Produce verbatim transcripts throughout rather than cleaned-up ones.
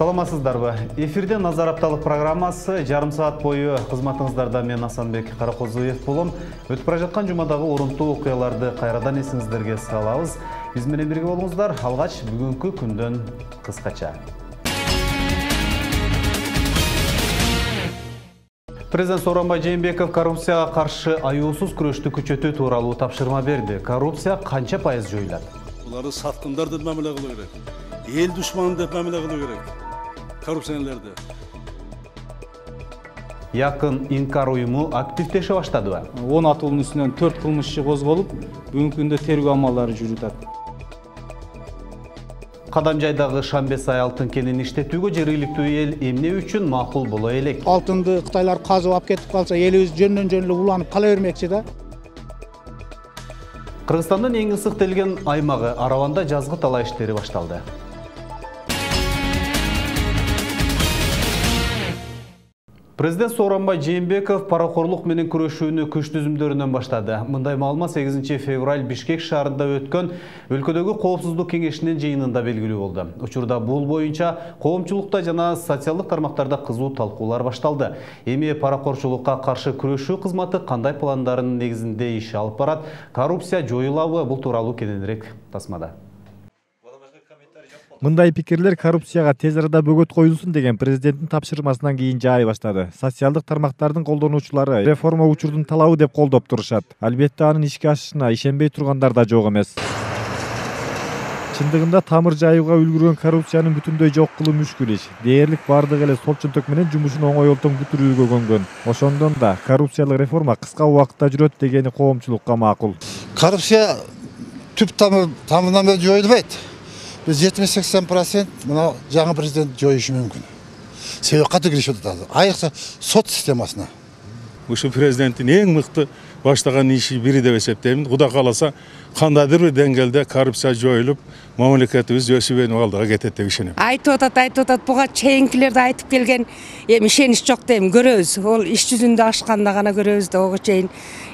Саламатсыздарбы? Эфирде Назар апталык программасы жарым саат бою кызматыңыздарда мен Асанбек Каракозуев болом. Өтүп бара жаткан жумадагы орунтуу окуяларды кайрадан эсиңиздерге салабыз. Биз менен бирге болуңуздар. Алгач бүгүнкү күндөн кыскача. Президент Сооронбай Жээнбеков коррупцияга каршы аюусуз күрөштү күчөтүү тууралуу тапшырма берди. Коррупция канча пайыз жоюлат? Буларды саткындар деп мамиле кылуу керек. Эл душманы деп мамиле кылуу керек. Коррупционерлерди. Якын инкар уюму активдеше баштадыбы? он атуунун үстүнөн төрт кылмыш иши козголуп, бүгүнкү күндө тергөө амалдары жүрүп жатат. Кадамжайдагы Шамбесай алтын кенин иштетүүгө жергиликтүү эл эмне үчүн макул боло элек? Алтынды Кытайлар казып алып кетип калса, элибиз жөндөн жөн эле уланып кала бермекчи да. Кыргызстандын эң ысык делген аймагы Араванда жазгы талаа иштери башталды. Президент Сооронбай Жээнбеков паракорлук менен күрөшүүнү күч түзүмдөрүнөн баштады. Мындай маалымат сегизинчи февраль Бишкек шаарында өткөн өлкөдөгү коопсуздук кеңешинин жыйынында белгилүү болду. Учурда бул боюнча коомчулукта жана социалдык тармактарда кызуу талкуулар башталды. Эми паракорчулукка каршы күрөшүү кызматы кандай пландарынын негизинде иш алып барат? Коррупция жоюлабы? Бул тууралуу кененирээк тасмада. Мындай пикирлер коррупцияга тез арада бөгөт коюлсун деген президенттин тапшырмасынан кийин жаай баштады. Социалдык тармактардын колдонуучулары реформа учурдун талабы деп колдоп турушат. Албетте анын ишке ашышына ишенбей тургандар да жок эмес. Чындыгында тамыр жайууга үлгүргөн коррупциянын бүтүндөй жок кылуу мүшкүл иш. Дээрлик бардык эле сол чөнтөк менен жумушун оңойлтон бүтүрүүгө көнгөн. Ошондон да коррупциялык реформа кыска убакытта жүрөт дегени коомчулукка макул. Коррупция түп тамырынан бери жоюлбайт. Biz жетимиш сексен процент мына жаңы президент жоюшу мүмкүн. Себеби катуу киришип атат. Айрыкча сот системасына. Ушу президенттин эң мыкты баштаган иши бири деп эсептейм. Кудай кааласа кандайдыр бир деңгээлде коррупция жоюлуп, мамлекетибиз өсүп өнүп алдыга кетет деп ишенем. Айтып атат, айтып атат, буга чейинкилерди айтып келген, эми ишенич жок дейм, көрөбүз. Ол иш жүзүндө ашканда гана көрөбүз да, ого чейин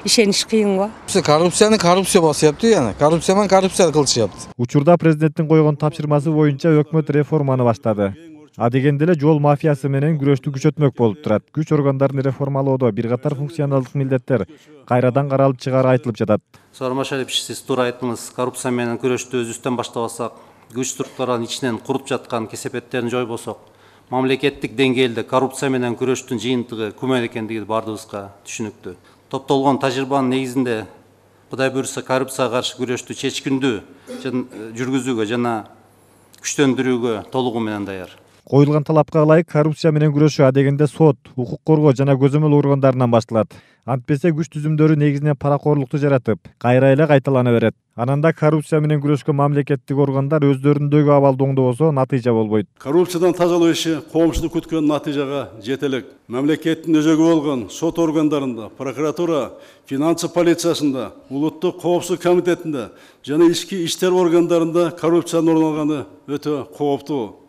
ишенич кыйын го. Коррупцияны коррупция басыпты, яна. Коррупция менен коррупция кылышыпты. Учурда президенттин койгон тапшырмасы боюнча өкмөт реформаны баштады. А дегенде эле жол мафиясы менен күрөштү күчөтмөк болуп турат. Күч органдарын реформалоодо бир катар функционалдык милдеттер кайрадан каралып чыгаары айтылып жатат. Сооронбай Шарипович, сиз туура айттыңыз. Коррупция менен күрөштү өзүбүздөн баштабасак, күч структураларын ичинен куруп жаткан кесепеттерин жойбосок, мамлекеттик деңгээлде коррупция менен күрөштүн жыйынтыгы күмөн экендиги бардыгыбызга түшүнүктүү. Топтолгон тажрыйбанын негизинде Кудай буйрса коррупцияга каршы күрөштү чечкиндүү жүргүзүүгө жана күчтөндүрүүгө толугу менен даяр. Коюлган талапка ылайык коррупция менен күрөшүү адегенде сот, укук коргоо жана көзөмөл органдарынан башталат. Антпесе күч түзүмдөрү негизинен паракорлукту жаратып, кайра эле кайталана берет. Ананда коррупция менен күрөшкөн мамлекеттик органдар өздөрүндөгү абалды оңдобосо натыйжа болбойт. Коррупциядан тазалоо иши коомчулук күткөн натыйжага жете элек. Мамлекеттин өзөгү болгон сот органдарында, прокуратура, финансы полициясында, улуттук коопсуздук комитетинде жана ички иштер органдарында коррупциянын орун алганы өтө кооптуу.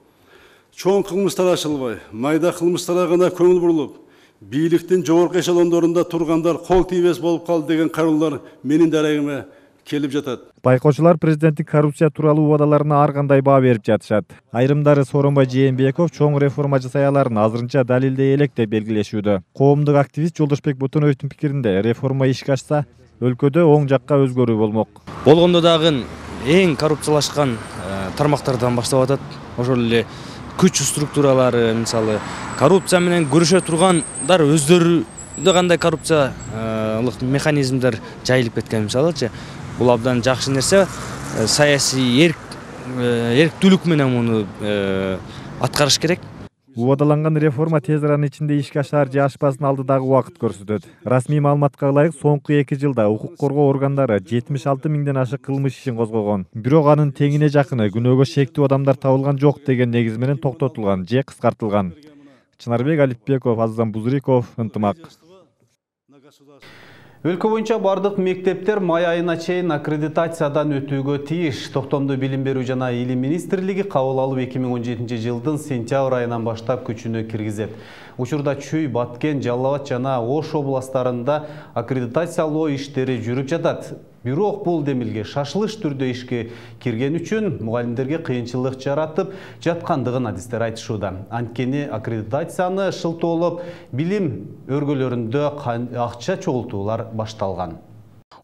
Чоң кылмыштар ачылбай, майда кылмыштарга гана көңүл бурулуп, бийликтин жогорку эшелондорунда тургандар кол тийбес болуп калды деген кароолор менин дарегиме келип жатат. Байкоочулар президенттин коррупция тууралуу убадаларына ар кандай баа берип жатышат. Айрымдары Сооронбай Жээнбеков чоң реформа жасай аларын азырынча далилдей элек деп белгилешүүдө. Коомдук активист Жолдошбек Ботоноевдин пикиринде реформа ишке ашса, өлкөдө оң жакка өзгөрүү болмок. Болгондо дагы эң коррупциялашкан тармактардан баштап атат. Ошол эле күч структуралары, мисалы, коррупция менен күрөшө тургандар өздөрү кандай коррупциялык механизмдер жайылып кеткен, мисалычы. Бул абдан жакшы нерсе. Саясий эрк эрктүүлүк менен муну аткарыш керек. Убадаланган реформа тез аранын ичинде ишке ашар же ашпасын алдыдагы убакыт көрсөтөт. Расмий маалыматка ылайык соңку эки жылда укук коргоо органдары жетимиш алты миңден ашык кылмыш ишин козгогон. Бирок анын теңине жакыны күнөөгө шектүү адамдар табылган жок деген негиз менен токтотулган же кыскартылган. Чынарбек Алипбеков, Аззан Бузриков, ынтымак. Өлкө боюнча бардык мектептер май айына чейин аккредитациядан өтүүгө тийиш. Токтомдуу билим берүү жана илим министрлиги кабыл алып эки миң он жетинчи жылдын сентябрь айынан баштап күчүнө киргизет. Учурда Чүй, Баткен, Жалал Абад жана Ош областарында аккредитациялоо иштери жүрүп жатат. Бирок бул демилге шашылыш түрдө ишке кирген үчүн мугалимдерге кыйынчылык жаратып жаткандыгын адистер айтышууда. Анткени аккредитацияны шылтоолоп, билим өргөлөрүндө акча чогултуулар башталган.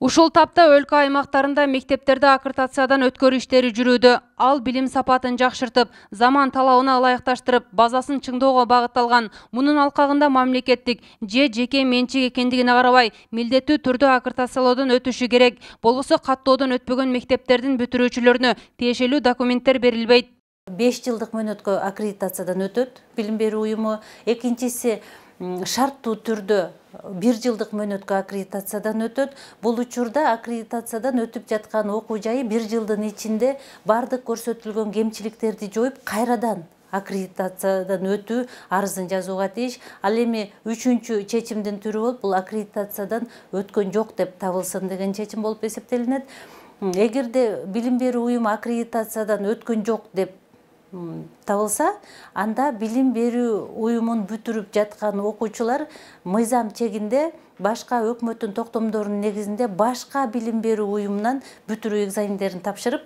Ушул тапта өлкө аймактарында мектептерде аккредитациядан өткөрүү иштери жүрүүдө. Ал билим сапатын жакшыртып, заман талабына ылайыкташтырып, базасын чыңдоого багытталган. Мунун алкагында мамлекеттик же жеке менчик экендигине карабай, милдеттүү түрдө аккредитациялоодон өтүшү керек. Болбосо каттоодон өтпөгөн мектептердин бүтүрүүчүлөрүнө тиешелүү документтер берилбейт. беш жылдык мөөнөткө аккредитациядан өтөт билим берүү уюму. Экинчиси шарттуу түрдө бир жылдык мөөнөткө аккредитациядан өтөт. Бул учурда аккредитациядан өтүп жаткан окуу жайы бир жылдын ичинде бардык көрсөтүлгөн кемчиликтерди жоюп, кайрадан аккредитациядан өтүү арызын жазууга тийиш. Ал эми үчүнчү чечимдин түрү болуп, бул аккредитациядан өткөн жок деп табылсын деген чечим болуп эсептелинет. Эгерде билим берүү уюму аккредитациядан өткөн жок деп табылса, анда билим берүү уюмун бүтүрүп жаткан окуучулар мыйзам чегинде башка өкмөттүн токтомдорунун негизинде башка билим берүү уюмунан бүтүрүү экзамендерин тапшырып,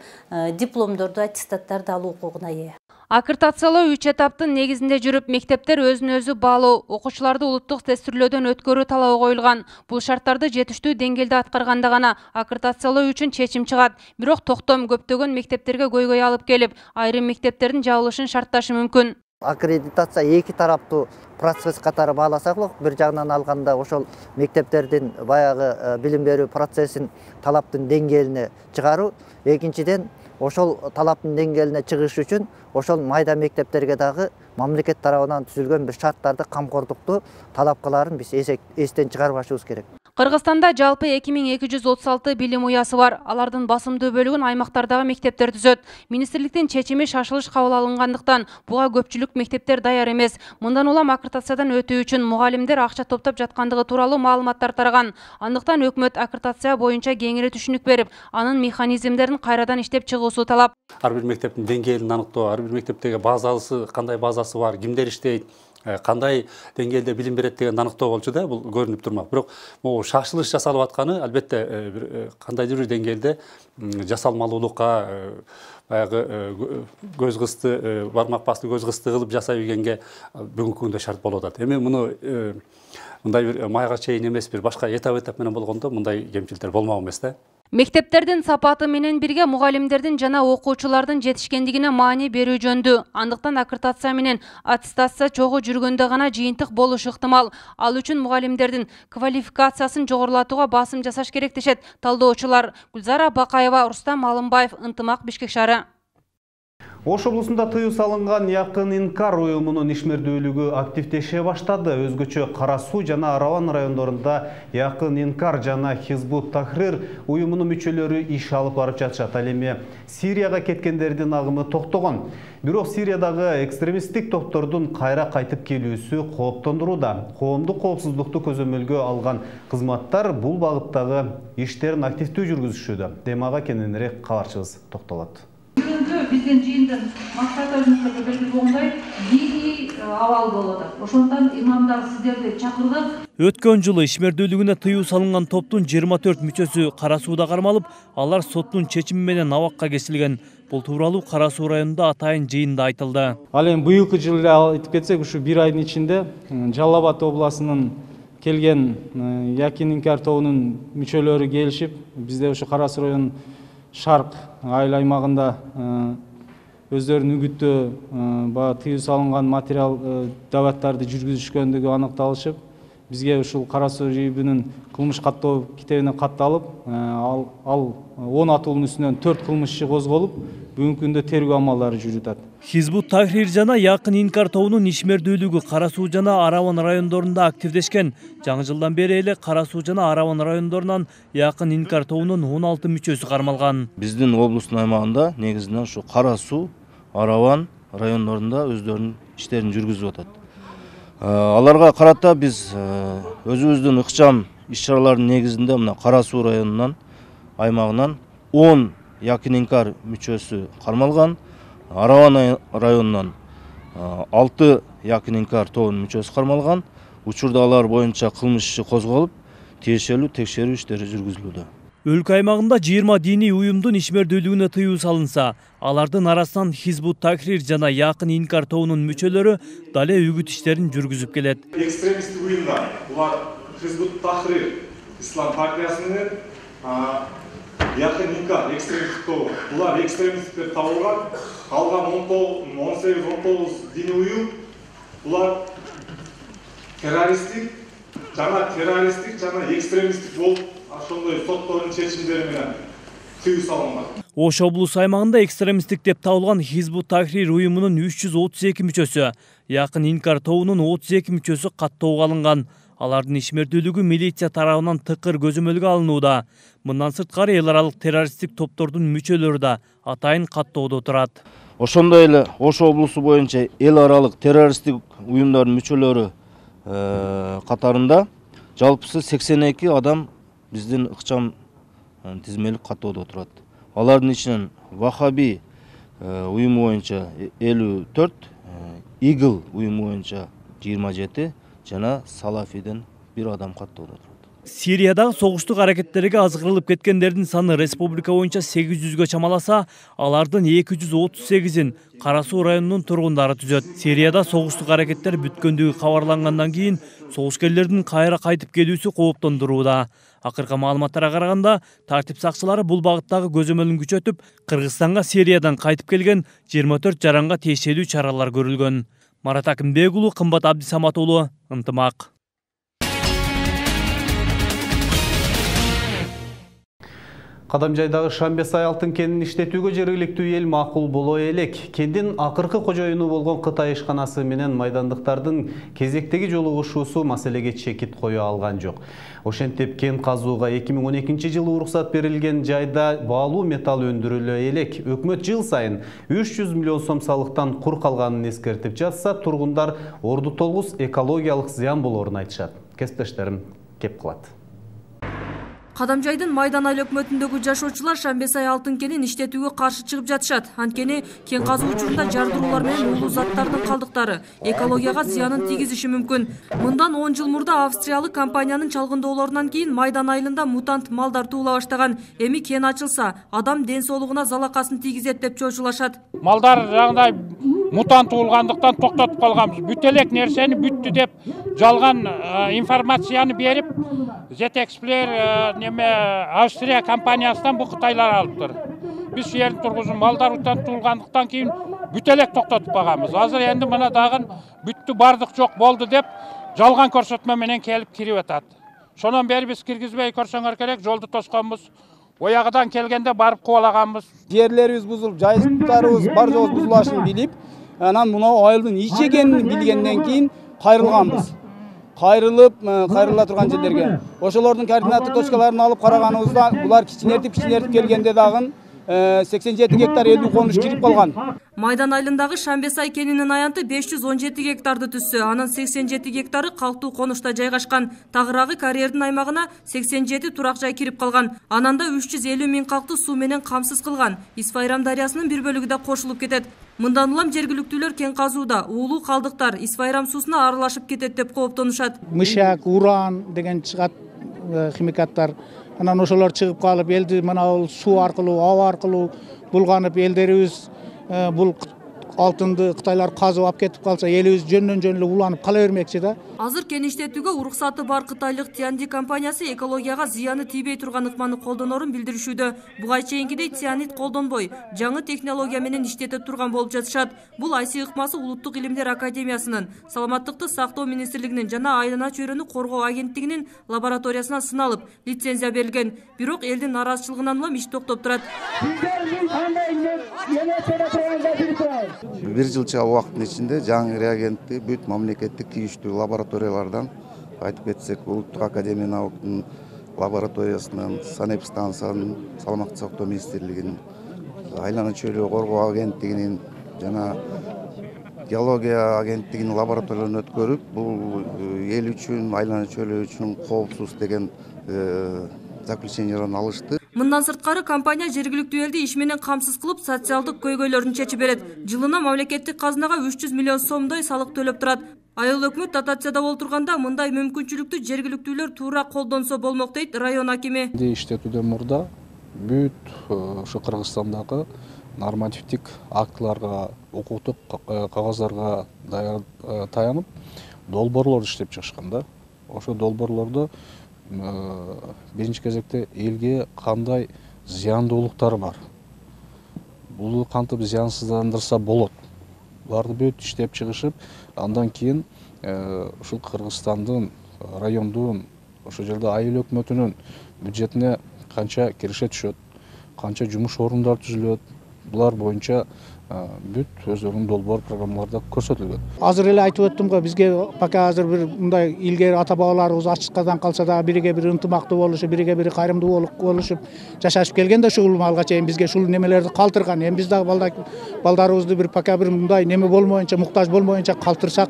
дипломдорду, аттестаттарды алуу укугуна ээ. Аккредитациялоо үч этаптын негизинде жүрүп, мектептер өзүн өзү баалоо, окуучуларды улуттук тестирлөөдөн өткөрүү талабы коюлган. Бул шарттарды жетиштүү деңгээлде аткарганда гана аккредитациялоо үчүн чечим чыгат. Бирок токтом көптөгөн мектептерге көйгөй алып келип, айрым мектептердин жабылышын шартташы мүмкүн. Аккредитация эки тараптуу процесс катары бааласак, бир жагынан алганда ошол мектептердин баягы билим берүү процессин талаптын деңгээлине чыгаруу, экинчиден ошол талаптын деңгээлине чыгыш үчүн ошол майда мектептерге дагы мамлекет тарабынан түзүлгөн бир шарттарды, камкордукту талапкаларын биз эстен чыгарбашыбыз керек. Кыргызстанда жалпы эки миң эки жүз отуз алты билим уясы бар. Алардын басымдуу бөлүгүн аймактардагы мектептер түзөт. Министрликтин чечими шашылыш кабыл алынгандыктан буга көпчүлүк мектептер даяр эмес. Мындан улам аккредитациядан өтүү үчүн мугалимдер акча топтоп жаткандыгы тууралуу маалыматтар тараган. Андыктан өкмөт аккредитация боюнча кеңири түшүнүк берип, анын механизмдерин кайрадан иштеп чыгуусу талап. Ар бир мектептин деңгээлин аныктоо, ар бир мектептеги базасы, кандай базасы бар, кимдер иштейт, кандай деңгээлде билим берет деген аныктоо болчу да, бул көрүнүп турмак. Бирок могу шашылыш жасалып атканы албетте кандайдыр бир деңгээлде жасалмалуулукка, баягы көз кысты, бармак басты көз кысты кылып жасай бергенге бүгүнкү күндө шарт болуп атат. Эми муну мындай бир майга чейин эмес, бир башка этап-этап менен болгондо мындай кемчиликтер болмок эмес да. Мектептердин сапаты менен бирге мугалимдердин жана окуучулардын жетишкендигине маани берүү жөндүү. Андыктан аккредитация менен аттестация чогуу жүргөндө гана жыйынтык болушу ыктымал. Ал үчүн мугалимдердин квалификациясын жогорулатууга басым жасаш керек дешет талдоочулар. Гүлзара Бакаева, Рустам Алымбаев, Ынтымак, Бишкек шаары. Ош облусунда тыюу салынган Якын Инкар уюмунун ишмердүүлүгү активдеше баштады. Өзгөчө Кара Суу жана Араван райондорунда Якын Инкар жана Хизбут Тахрир уюмунун мүчөлөрү иш алып барып жатышат. Ал эми Сирияга кеткендердин агымы токтогон. Бирок Сириядагы экстремисттик топтордун кайра кайтып келүүсү кооптондурууда. Коомдук коопсуздукту көзөмөлгө алган кызматтар бул багыттагы иштерин активдүү жүргүзүшүүдө. Темага кененирээк кабарчыбыз токтолот. Биздин жыйындын максаты өзүңүздөргө белгилүү болгондой диний абал болуп атат. Ошондон имамдар сиздерди чакырдык. Өткөн жылы ишмердүүлүгүнө тыюу салынган топтун жыйырма төрт мүчөсү Кара Сууда кармалып, алар соттун чечими менен абакка кесилген. Бул тууралуу Кара Суу районунда атайын жыйында айтылды. Ал эми быйылкы жылы айтып кетсек, ушу бир айдын ичинде Жалал Абад областынын келген Якын Инкар тобунун мүчөлөрү келишип, бизде ушу Кара Суу районунун Шарк айыл аймагында өздөрүнүн үгүттөө баягы тыюу салынган материал дабаттарды жүргүзүшкөндүгү аныкталышып, бизге ушул Кара Суу районунун кылмыш каттоо китебине катталып, ал он атуунун үстүнөн төрт кылмыш иши козголуп, бүгүнкү күндө тергөө амалдары жүрүп атат. Хизбут Тахрир жана Якын Инкар тобунун ишмердүүлүгү Кара Суу жана Араван райондорунда активдешкен. Жаңы жылдан бери эле Кара Суу жана Араван райондорунан Якын Инкар тобунун он алты мүчөсү кармалган. Биздин облустун аймагында негизинен ушу Кара Суу, Араван райондорунда өздөрүнүн иштерин жүргүзүп атат. Аларга карата биз өзүбүздүн ыкчам иш-чаралардын негизинде мына Кара Суу районунан аймагынан он Якын Инкар мүчөсү кармалган. Араван районунан алты Якын Инкар тобунун мүчөсү кармалган. Учурда алар боюнча кылмыш иши козголуп, тиешелүү текшерүү иштери жүргүзүлүүдө. Өлкө аймагында жыйырма диний уюмдун ишмердүүлүгүнө тыюу салынса, алардын арасынан Хизбут Тахрир жана Якын Инкар тобунун мүчөлөрү дале үгүт иштерин жүргүзүп келет. Экстремисттик уюмдар, булар Хизбут Тахрир ислам партиясынын, Якын Инкар экстремисттик тобу. Булар экстремисттер табылган, калган он сегиз он тогуз диний уюм, булар террористтик жана террористтик жана экстремисттик болуп ошондой соттордун чечимдери менен тыюу салынган. Ош облус аймагында экстремисттик деп табылган Хизбут Тахрир уюмунун үч жүз отуз эки мүчөсү, Якын Инкар тобунун отуз эки мүчөсү каттоого алынган. Алардын ишмердүүлүгү милиция тарабынан тыкыр көзөмөлгө алынууда. Мындан сырткары эл аралык террористтик топтордун мүчөлөрү да атайын каттоодо турат. Ошондой эле Ош облусу боюнча эл аралык террористтик уюмдардын мүчөлөрү катарында жалпысы сексен эки адам биздин ыкчам тизмелик каттоодо турат. Алардын ичинен Вахаби уюму боюнча элүү төрт, Игл уюму боюнча жыйырма жети жана Салафиден бир адам каттоодо турат. Сириядагы согуштук аракеттерге азгырылып кеткендердин саны республика боюнча сегиз жүзгө чамаласа, алардын эки жүз отуз сегизин Кара Суу районунун тургундары түзөт. Сирияда согуштук аракеттер бүткөндүгү кабарлангандан кийин согушкерлердин кайра кайтып келүүсү кооптондурууда. Акыркы маалыматтарга караганда, тартип сакчылары бул багыттагы көзөмөлүн күчөтүп, Кыргызстанга Сириядан кайтып келген жыйырма төрт жаранга тиешелүү чаралар көрүлгөн. Марат Акимбек уулу, Кымбат Абдисамат уулу, Ынтымак. Кадамжайдагы Шамбесай алтын кенин иштетүүгө жергиликтүү эл макул боло элек. Кендин акыркы кожоюну болгон Кытай ишканасы менен майдандыктардын кезектеги жолугушуусу маселеге чекит кое алган жок. Ошентип кен казууга эки миң он экинчи жылы уруксат берилген жайда баалуу металл өндүрүлө элек. Өкмөт жыл сайын үч жүз миллион сом салыктан кур калганын эскертип жатса, тургундар орду толгус экологиялык зыян болоорун айтышат. Кесиптештерим кеп кылат. Кадамжайдын Майдан айыл өкмөтүндөгү жашоочулар Шамбесай алтын кенин иштетүүгө каршы чыгып жатышат. Анткени кен казуу учурунда жардыруулар менен уулуу заттардын калдыктары экологияга зыянын тийгизиши мүмкүн. Мындан он жыл мурда австриялык компаниянын чалгындоолорунан кийин Майдан айылында мутант малдар туула баштаган. Эми кен ачылса, адам ден соолугуна залакасын тийгизет деп чочулашат. Малдар жагдай мутант туулгандыктан токтотуп калганбыз. Бүт элек нерсени бүттү деп жалган информацияны берип, Жетексплер неме Австрия компаниясынан бу Кытайлар алыптыр. Биз şu жердин тургузун малдар мутант туулгандыктан кийин бүт элек токтотуп калганбыз. Азыр энди мына дагы бүттү бардык жок болду деп жалган көрсөтмө менен келип кирип атат. Шонон бери биз киргизбей көрсөңөр керек, жолду тосконбуз. Оягыдан келгенде барып кубалаганбыз. Жерлерибиз бузулуп, жайыттарыбыз бар жогу бузулашын билип, анан мына айылдын ич экенин билгенден кийин кайрылганбыз. Кайрылып, кайрыла турган жерлерге. Ошолордун координаттык точкаларын алып караганыбызда, булар кичинертип кичинертип келгенде дагы сексен жети гектар элүү конуш кирип калган. Майдан айылындагы Шамбесай кенинин аянты беш жүз он жети гектарды түссө, анын сексен жети гектары калктуу конушта жайгашкан. Тагыраагы карьердин аймагына сексен жети турак жай кирип калган. Ананда үч жүз элүү миң калкты суу менен камсыз кылган. Исфайрам дарыясынын бир бөлүгү да кошулуп кетет. Мындан улам жергиликтүүлөр кен казууда уулуу калдыктар Исфайрам суусуна аралашып кетет деп кооптонушат. Мышак, уран деген чыгат химикаттар. Анан ошолор чыгып калып, элди мына суу аркылуу, аба аркылуу булганып, элдерибиз бул алтынды Кытайлар казып алып кетип калса, элибиз жөндөн жөн эле уланып кала бермекчи да. Азыр кен иштетүүгө уруксаты бар кытайлык Тианди компаниясы экологияга зыяны тийбей турган ыкманы колдонорун билдиришүүдө. Буга чейинкидей цианид колдонбой, жаңы технология менен иштете турган болуп жатышат. Бул Айси ыкмасы Улуттук илимдер академиясынын, Саламаттыкты сактоо министрлигинин жана айлана чөйрөнү коргоо агенттигинин лабораториясына сыналып, лицензия берилген. Бирок элдин нараазычылыгынан улам иш токтоп турат. Бир жылча убакыттын ичинде жаңы реагентти бүт мамлекеттик тийиштүү лабораториялардан, айтып кетсек, Улуттук академия науканын лабораториясынан, санэпстанциянын, Саламаттыкты сактоо министрлигинин, айлана чөйрө коргоо агенттигинин жана геология агенттигинин лабораторияларын өткөрүп, бул эл үчүн, айлана чөйрө үчүн коопсуз деген заключенияларын алышты. Мындан сырткары компания жергиликтүү элди иш менен камсыз кылып, социалдык көйгөйлөрүн чечип берет. Жылына мамлекеттик казынага үч жүз миллион сомдой салык төлөп турат. Айыл өкмөт дотацияда олтурганда мындай мүмкүнчүлүктү жергиликтүүлөр туура колдонсо болмок дейт район акими. Иштетүүдөн мурда бүт ушу Кыргызстандагы нормативдик актыларга, укуктук кагаздарга таянып долбоорлор иштеп чыгышкан да. Ошо долбоорлордо биринчи кезекте элге кандай зыяндуулуктары бар. Бул кантип зыянсыздандырса болот. Буларды бүт иштеп чыгышып, андан кийин ушул Кыргызстандын райондун ошол жерде айыл өкмөтүнүн бюджетине канча киреше түшөт, канча жумуш орундары түзүлөт. Булар боюнча бүт өздөрүнүн долбоор программаларда көрсөтүлгөн. Азыр эле айтып өттүм го, бизге пока азыр бир мындай илгери ата бабаларыбыз ачыкадан калса да бириге бири ынтымактуу болушуп, бириге бири кайрымдуу болушуп жашашып келген да ушул малга чейин бизге ушул немелерди калтырган. Эми биз дагы балдарыбызды бир пока бир мындай неме болмоюнча, муктаж болмоюнча калтырсак,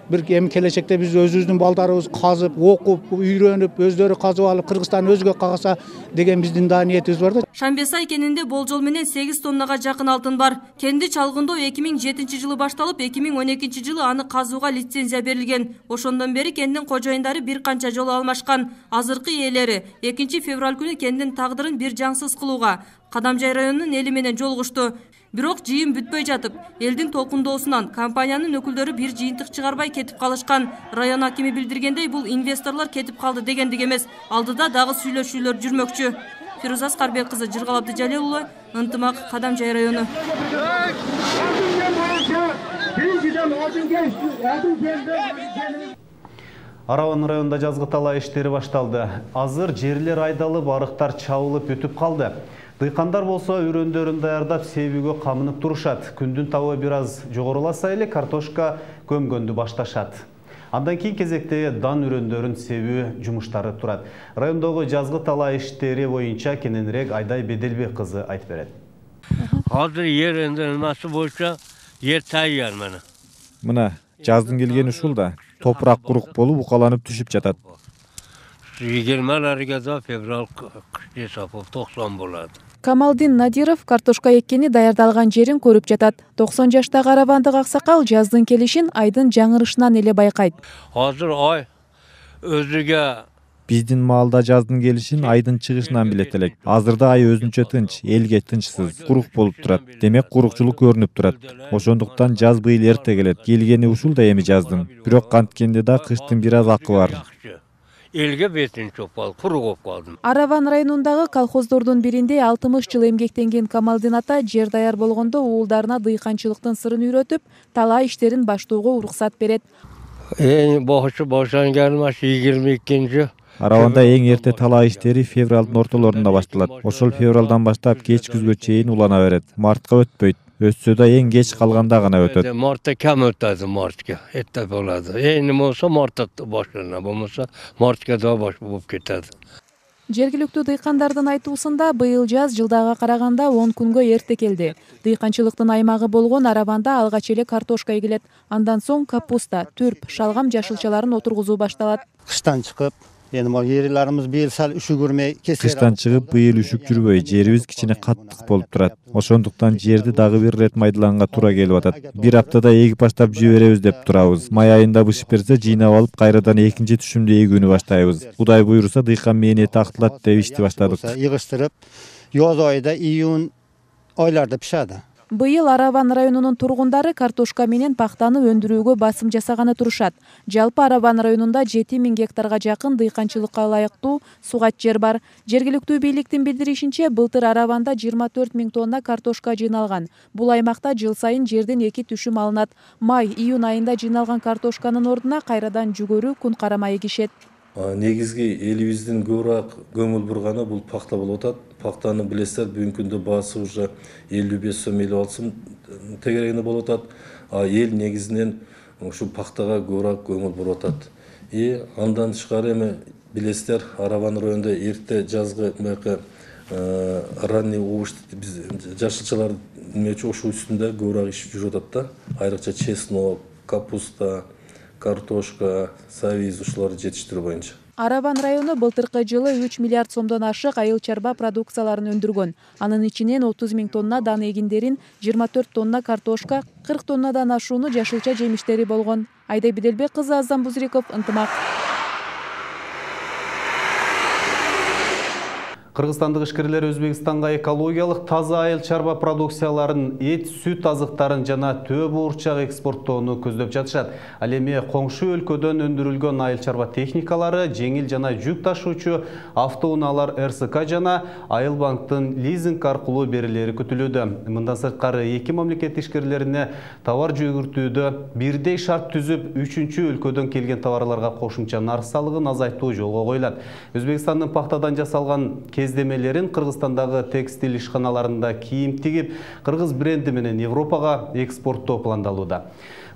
бир эми келечекте биз өзүбүздүн балдарыбыз казып, окуп, үйрөнүп, өздөрү казып алып Кыргызстан өзгө кагаса деген биздин да ниетибиз бар да. Шамбесай кенинде болжол менен сегиз тоннага жакын алтын бар. Кенди чалгындоо эки миң жетинчи жылы башталып, эки миң он экинчи жылы аны казууга лицензия берилген. Ошондон бери кендин кожоюндары бир канча жолу алмашкан. Азыркы ээлери экинчи февраль күнү кендин тагдырын бир жаңсыз кылууга Кадамжай районунун эли менен жолугушту. Бирок жыйын бүтпөй жатып, элдин толкундоосунан компаниянын өкүлдөрү бир жыйынтык чыгарбай кетип калышкан. Район акими билдиргендей, бул инвесторлор кетип калды дегендик эмес. Алдыда дагы сүйлөшүүлөр жүрмөкчү. Фируза Аскарбек кызы, Жыргал Абдыжалил уулу, Ынтымак, Кадамжай району. Араван районунда жазгы талаа иштери башталды. Азыр жерлер айдалып, арыктар чабылып бүтүп калды. Дыйкандар болсо үрөндөрүн даярдап себүүгө камынып турушат. Күндүн табы бир аз жогоруласа эле картошка көмгөндү башташат. Андан кийин кезекте дан үрөндөрүн себүү жумуштары турат. Райондогу жазгы талаа иштери боюнча кененирээк Айдай Беделбек кызы айтып берет. Азыр жер энди боюнча жер таяр мына. Мына жаздын келгени ушул да. Топурак курук болуп укаланып түшүп жатат. Жыйырмаларга февраль кыш токсон болот. Камалдин Надиров картошка эккени даярдалган жерин көрүп жатат. токсон жаштагы аравандык аксакал жаздын келишин айдын жаңырышынан эле байкайт. Азыр ай өзүгө биздин маалда жаздын келишин айдын чыгышынан билет элек. Азырда ай өзүнчө тынч, элге тынчсыз, курук болуп турат. Демек курукчулук көрүнүп турат. Ошондуктан жаз быйыл эрте келет. Келгени ушул да эми жаздын. Бирок канткенде да кыштын бир аз акы бар. Элге бетин чопал, курук болуп калдым. Араван районундагы колхоздордун биринде алтымыш жыл эмгектенген Камалдин ата жер даяр болгондо уулдарына дыйканчылыктын сырын үйрөтүп, талаа иштерин баштоого уруксат берет. Эң башы башлаганым жыйырма экинчи. Араванда эң эрте талаа иштери февралдын ортолорунда башталат. Ошол февралдан баштап кеч күзгө чейин улана берет. Мартка өтпөйт. Өтсө да эң кеч калганда гана өтөт. Мартта кем өтөдү, мартка. Этте болот. Эң болсо мартта башлана, болмосо мартка да баш болуп кетет. Жергиликтүү дыйкандардын айтуусунда быйыл жаз жылдага караганда он күнгө эрте келди. Дыйканчылыктын аймагы болгон Араванда алгач эле картошка эгилет. Андан соң капуста, түрп, шалгам жашылчаларын отургузуу башталат. Кыштан чыгып, эми могу ээлерибиз быйыл сал үшүгүрмөй кесер. Кыштан чыгып быйыл үшүк жүрбөй, жерибиз кичине каттык болуп турат. Ошондуктан жерди дагы бир ирет майдаланга туура келип атат. Бир аптада эгип баштап жиберебиз деп турабыз. Май айында бышып берсе, жыйнап алып кайрадан экинчи түшүмдө эгүүнү баштайбыз. Кудай буйруса дыйкан мээниети актылат деп ишти баштадык. Йыгыштырып, yoz айда июнь айларда пишadi. Быйыл Араван районунун тургундары картошка менен пахтаны өндүрүүгө басым жасаганы турушат. Жалпы Араван районунда жети миң гектарга жакын дыйканчылыкка ылайыктуу сугат жер бар. Жергиликтүү бийликтин билдиришинче, былтыр Араванда жыйырма төрт миң тонна картошка жыйналган. Бул аймакта жыл сайын жерден эки түшүм алынат. Май, июнь айында жыйналган картошканын ордуна кайрадан жүгөрү, күн карама эгишет. Негизги элибиздин көбүрөөк көңүл бурганы бул пахта болуп атат. Пахтаны билесиздер, бүгүнкү күндө баасы уже элүү беш сом элүү алты сом тегерегинде болуп атат. А эл негизинен ушу пахтага көбүрөөк көңүл буруп атат. И андан тышкары эми билесиздер, Араван районунда эрте жазгы мынакы ранний овощ биз жашылчалар немечи ошол үстүндө көбүрөөк иш жүрүп атат да. Айрыкча чеснок, капуста, картошка, савиз ушуларды жетиштирүү боюнча. Араван району былтыркы жылы үч миллиард сомдон ашык айыл чарба продукцияларын өндүргөн. Анын ичинен отуз миң тонна дан эгиндерин, жыйырма төрт тонна картошка, кырк тоннадан ашууну жашылча жемиштери болгон. Айда Биделбек кызы, Азам Бузриков, Ынтымак. Кыргызстандык ишкерлер Өзбекстанга экологиялык таза айыл чарба продукцияларын, эт, сүт азыктарын жана төө буурчак экспорттоону көздөп жатышат. Ал эми коңшу өлкөдөн өндүрүлгөн айыл чарба техникалары, жеңил жана жүк ташуучу автоунаалар эр эс ка жана Айыл банктын лизинг аркылуу берилери күтүлүүдө. Мындан сырткары эки мамлекет ишкерлерине товар жүгүртүүдө бирдей шарт түзүп, үчүнчү өлкөдөн келген товарларга кошумча нарк салыгын азайтуу жолго коюлат. Өзбекстандын пахтадан жасалган кездемелерин Кыргызстандагы текстиль ишканаларында кийим тигип, кыргыз бренди менен Европага экспорттоо пландалууда.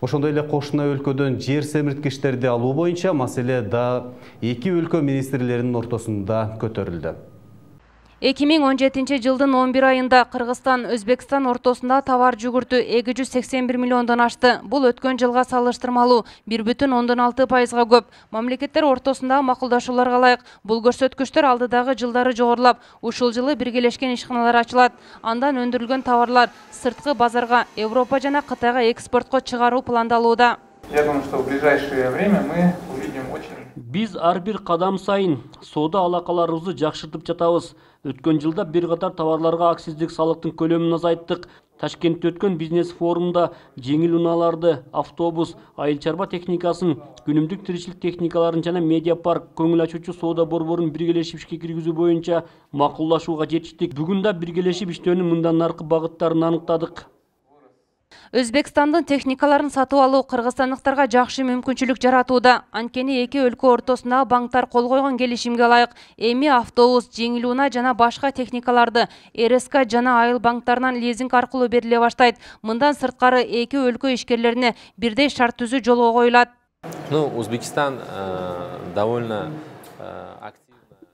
Ошондой эле кошуна өлкөдөн жер семирткичтерди алуу боюнча маселе да эки өлкө министрлеринин ортосунда көтөрүлдү. эки миң он жетинчи жылдын он бир айында Кыргызстан Өзбекстан ортосунда товар жүгүртүү эки жүз сексен бир миллиондон ашты. Бул өткөн жылга салыштырмалуу бир бүтүн ондон алты пайызга көп. Мамлекеттер ортосундагы макулдашууларга ылайык бул көрсөткүчтөр алдыдагы жылдары жогорулап, ушул жылы биргелешкен ишканалар ачылат. Андан өндүрүлгөн товарлар сырткы базарга, Европа жана Кытайга экспортко чыгаруу пландалууда. Я думаю, что в ближайшее время мы увидим очень... Биз ар бир кадам сайын соода алакаларыбызды жакшыртып жатабыз. Өткөн жылда бир катар товарларга акциздик салыктын көлөмүн азайттык. Ташкентте өткөн бизнес форумда жеңил унааларды, автобус, айыл чарба техникасын, күнүмдүк тиричилик техникаларын жана медиа парк көңүл ачуучу соода борборун биргелешип ишке киргизүү боюнча макулдашууга жетиштик. Бүгүн да биргелешип иштөөнүн мындан наркы багыттарын аныктадык. Өзбекстандын техникаларын сатып алуу кыргызстандыктарга жакшы мүмкүнчүлүк жаратууда. Анткени эки өлкө ортосундагы банктар кол койгон келишимге ылайык эми автобус, жеңил унаа жана башка техникаларды эр эс ка жана айыл банктарынан лизинг аркылуу бериле баштайт. Мындан сырткары эки өлкө ишкерлерине бирдей шарт түзүү жолго коюлат. Ну, Узбекистан довольно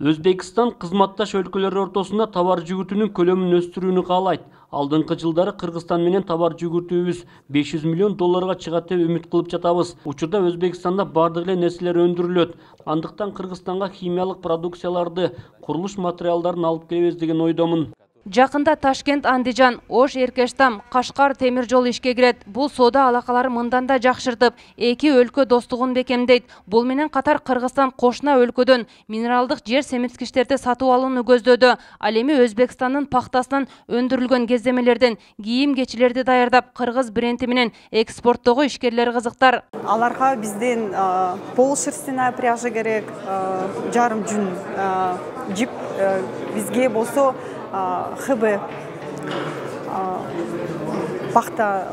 Өзбекстан кызматташ өлкөлөр ортосунда товар жүгүртүүнүн көлөмүн өстүрүүнү каалайт. Алдыңкы жылдары Кыргызстан менен товар жүгүртүүбүз беш жүз миллион долларга чыгат деп үмүт кылып жатабыз. Учурда Өзбекстанда бардык эле нерселер өндүрүлөт. Андыктан Кыргызстанга химиялык продукцияларды, курулуш материалдарын алып келебиз деген ойдомун. Жакында Ташкент, Андижан, Ош, Эркештам, Кашкар темир жол ишке кирет. Бул соода алакалары мындан да жакшыртып, эки өлкө достугун бекемдейт. Бул менен катар Кыргызстан кошуна өлкөдөн минералдык жер семирткичтерди сатып алууну көздөдү. Ал эми Өзбекстандын пахтасынан өндүрүлгөн кездемелерден кийим-кечилерди даярдап, кыргыз бренди менен экспорттоого ишкерлер кызыктар. Аларга бизден полушерстяная пряжа керек, жарым жүн жип, бизге болсо хб пахта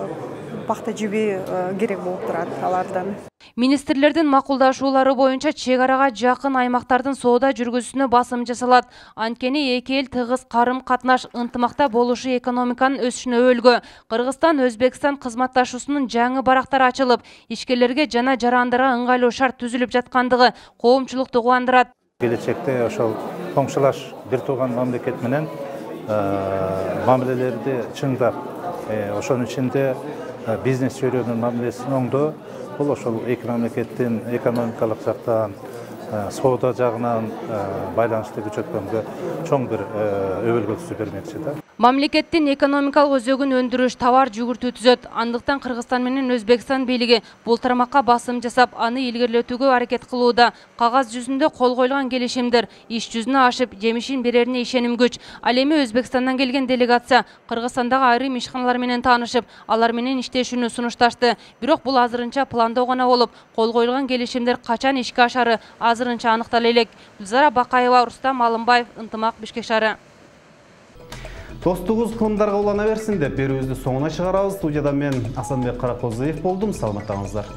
пахта жиби керек болуп турат алардан. Министрлердин макулдашуулары боюнча чек арага жакын аймактардын соода жүргүзүүсүнө басым жасалат. Анткени эки эл тыгыз карым-катнаш ынтымакта болушу экономиканын өсүшүнө өбөлгө. Кыргызстан Өзбекстан кызматташуусунун жаңы барактары ачылып, ишкерлерге жана жарандарга ыңгайлуу шарт түзүлүп жаткандыгы коомчулукту кубандырат. Келечекте ошол коңшулаш бир тууган мамлекет менен мамилелерди чыңдап, ошонун ичинде бизнес чөйрөнүн мамилесин оңдоо, бул ошол эки мамлекеттин экономикалык жактан, соода жагынан байланышты күчөткөнгө чоң бир өбөлгө түзүп бермекчи да. Мамлекеттин экономикалык өзөгүн өндүрүш, товар жүгүртүү түзөт. Андыктан Кыргызстан менен Өзбекстан бийлиги бул тармакка басым жасап, аны илгерилетүүгө аракет кылууда. Кагаз жүзүндө кол коюлган келишимдер иш жүзүнө ашып, жемишин берерине ишеним күч. Ал эми Өзбекстандан келген делегация Кыргызстандагы айрым ишканалар менен таанышып, алар менен иштешүүнү сунушташты. Бирок бул азырынча пландоо гана болуп, кол коюлган келишимдер качан ишке ашары азырынча аныктала элек. Гүлзара Бакаева, Рустам Алымбаев, Ынтымак, Бишкек шаары. Достугуз кылымдарга улана берсин деп берүүбүздү соңуна чыгарабыз. Студияда мен Асанбек Каракозуев болдум. Саламаттаңыздар.